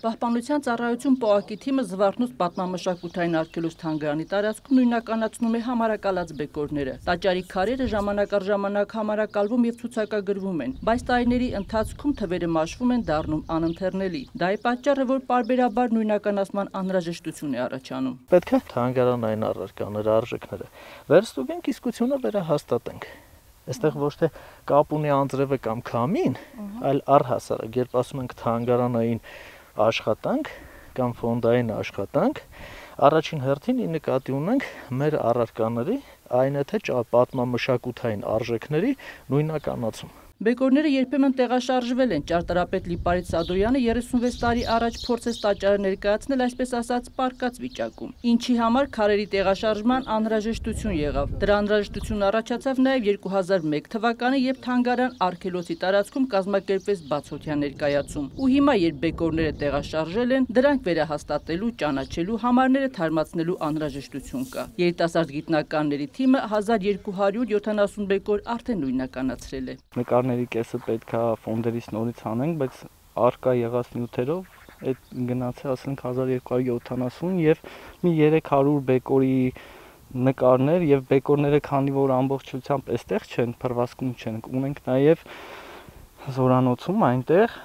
Պահպանության ծառայություն ՊՕԱԿ-ի թիմը Զվարթնոց պատմամշակութային արգելոց թանգարանի տարածքում նույնականացնում է համարակալած բեկորները։ Տաճարի քարերը ժամանակ առ ժամանակ համարակալվում եւ ցուցակագրվում են, բայց տարիների ընթացքում թվերը մաշվում են, դառնում անընթեռնելի։ Դա է պատճառը, որ պարբերաբար նույնականացման անհրաժեշտություն է առաջանում։ Պետք է թանգարանային առարկաները, արժեքները վերստուգենք, իսկությունը վերահաստատենք։ Այստեղ ոչ թե կապ ունի անձրևը կամ քամին, այլ առհասարակ, երբ ասում ենք թանգարանային աշխատանք կամ ֆոնդային աշխատանք, առաջին հերթին նկատի ունենք մեր առարկաների, այն է թե պատմամշակութային արժեքների նույնականացում։ Բեկորները երբեմն տեղաշարժվել են։ Ճարտարապետ Լիպարիտ Սադոյանը 36 տարի առաջ փորձեց տաճարը ներկայացնել այսպես ասած պարկած վիճակում, ինչի համար քարերի տեղաշարժման անհրաժեշտություն եղավ։ Դրա անհրաժեշտությունն առաջացավ նաև 2001 թվականը, երբ թանգարան արգելոցի տարածքում կազմակերպվեց բացօթյա ներկայացում։ Ու հիմա, երբ բեկորները տեղաշարժել են, դրանք վերահաստատելու, ճանաչելու, համարները թարմացնելու անհրաժեշտություն կա։ Երիտասարդ գիտնականների թիմը 1270 բեկոր արդեն նույնականացրել է։ Նկարների կեսը պետք է ֆոնդերից նորից անենք, բայց արկա եղած նյութերով այդ գնացել ասենք 1270 եւ մի 300 բեկորի նկարներ եւ բեկորները քանի որ ամբողջությամբ այստեղ չեն, փռվածքում չեն, ունենք նաեւ զորանոցում այնտեղ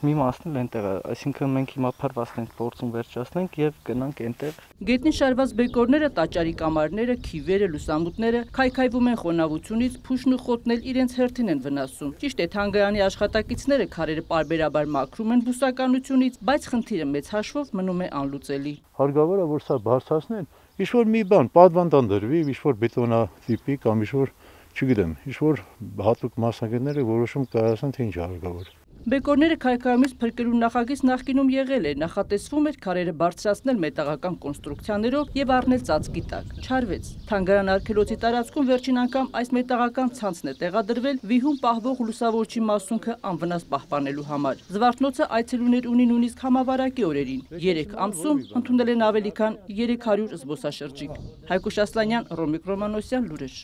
մի մասն էլ այնտեղ է, այսինքն մենք հիմա փռվածքն ենք փորձում վերջացնենք եւ գնանք այնտեղ։ Գետնին շարված բեկորները, տաճարի կամարները, քիվերը, լուսամուտները քայքայվում են խոնավությունից, փուշն ու խոտն էլ իրենց հերթին են վնասում։ Ճիշտ է, թանգարանի աշխատակիցները քարերը պարբերաբար մաքրում են բուսականությունից, բայց խնդիրը մեծ հաշվով մնում է անլուծելի։ Հարկավոր է որ սա բարձրացնեն, ինչ-որ մի բան, պատվանդան դրվի, ինչ-որ բետոնա տիպի կամ ինչ-որ, չգիտեմ, ինչ-որ հատուկ մասնագետները որոշում կայացնեն, թե ինչ է հարկավոր։ Բեկորները քայքայումից փրկելու նախագիծ նախկինում եղել է, նախատեսվում էր քարերը բարձրացնել մետաղական կոնստրուկցիաներով եւ առնել ծածկի տակ։ Չարվեց։ Թանգարան արգելոցի տարածքում վերջին անգամ այս մետաղական ցանցն է տեղադրվել վիհում պահվող լուսավորչի մասունքը անվնաս պահպանելու համար։ Զվարթնոցը այցելուներ ունի նույնիսկ համավարակի օրերին։ 3 ամսում ընդունել են ավելի քան 300 զբոսաշրջիկ։ Հայկուշ Ասլանյան, Ռոմիկ Ռոմանոսյան, լուրեր։